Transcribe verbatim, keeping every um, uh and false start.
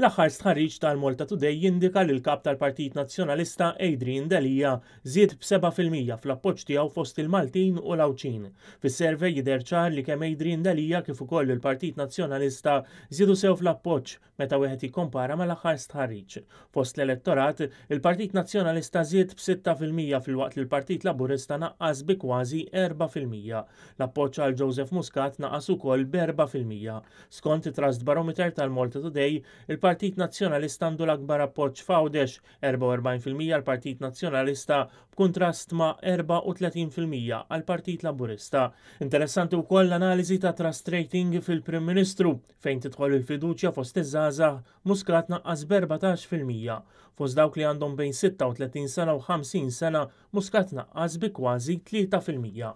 L-aħħar stħarriġ tal-Malta Today jindika li l-kap tal-Partit Nazzjonalista Adrian Delia żied b'seba' fil-mija fl-appoġġ tiegħu fost il-Maltin u l-Għawdxin. Fis-survey jidher ċar li kemm Adrian Delia kif ukoll il-Partit Nazzjonalista żiedu sew fl-appoġġ meta wieħed jikkompara mal-aħħar stħarriġ. Fost l-elettorat, il-Partit Nazzjonalista żied b'sitta fil-mija filwaqt li l-Partit Laburista naqqas bi kważi erba' fil-mija. L-appoġġ għal Joseph Muscat naqas ukoll b'erba' fil-mija. Skont it-Trust Barometer tal-Malta Today, il-Partit Nazzjonalista għandu l-akbar appoġġ f'Għawdex, erbgħa u erbgħin fil-mija għall-Partit Nazzjonalista b'kuntrast ma' erbgħa u tletin fil-mija għall-Partit Laburista. Interessanti wkoll l-analiżi ta' Trust Rating fil-Prim Ministru, fejn tidħol il-fiduċja fost iż-żgħażagħ, Muscat naqqas b'erbatax fil-mija. Fost dawk li għandhom bejn sitta u tletin sena u ħamsin sena, Muscat naqqas bi kważi tlieta fil-mija.